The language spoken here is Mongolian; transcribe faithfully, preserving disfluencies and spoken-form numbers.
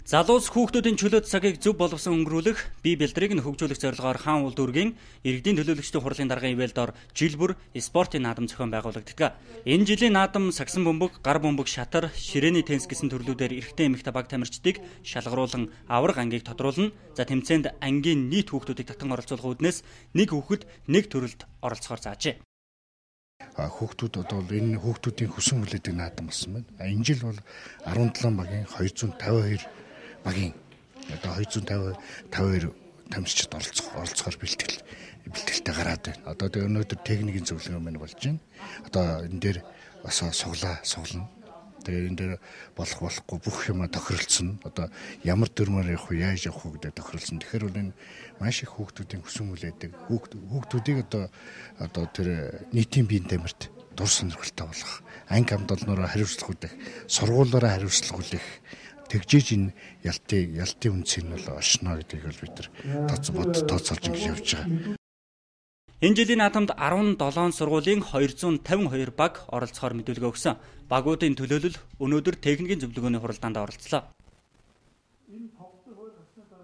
Залуус хүүхдүүдийн чөлөөт цагийг зөв боловсон өнгөрүүлэх, бие бэлтрийг нь хөгжүүлэх зорилгоор Хаан улд үргийн иргэдийн төлөөлөгчдийн хурлын даргын ивэлдор жил бүр спортын наадам зохион байгуулагддаг. Энэ жилийн наадам сагсан бөмбөг, гар бөмбөг, шатар, ширээний теннис гэсэн төрлүүдээр эрэгтэй эмэгтэй баг тамирчдыг шалгаруулан авраг ангийг тодруулна. За тэмцээнд ангийн нийт хүүхдүүдийг татан оролцуулах үүднээс нэг хүүхэд нэг төрөлд оролцохоор заажээ. Хүүхдүүд одоо энэ хүүхдүүдийн хүсэн хүлээдэг наадам болсон байна. Энэ жил бол арван долоон багийн хоёрзуун тавин хоёр багийн одоо хоёрзуун тавин хоёр тамирчид оролцох оролцохоор бэлтгэл бэлтгэлтэй гараад байна. Одоо тэгээ өнөөдөр техникийн зөвлөгөө мань болж байна. Одоо энэ дээр бас суглаа суглана. Тэгээ энэ дээр болох болохгүй бүх юм тохиролцсон. Одоо ямар дөрмөр явах вэ, яаж явах вэ гэдэг тохиролцсон. Тэгэхээр бол энэ маш их хүүхдүүдийн хүсэн хүлээдэг. Хүүхдүүдийг одоо одоо тэр нийтийн биеийн тамирт дур сонирхолтой болгох, анги хамгаалнаараа хариуцлага үлээх, сургуулаараа хариуцлага үлээх тэгжээж энэ ялтын ялтын үнцийг нь бол олшно гэдгийг бол бид нар тооцоод тооцоолж ингэж явж байгаа. Энэ жилийн наадамд арван долоон сургуулийн хоёрзуун тавин хоёр баг оролцохоор мэдүүлгээ өгсөн. Багуудын төлөөлөл өнөөдөр техникийн зөвлөгөөний хуралдаанд оролцлоо.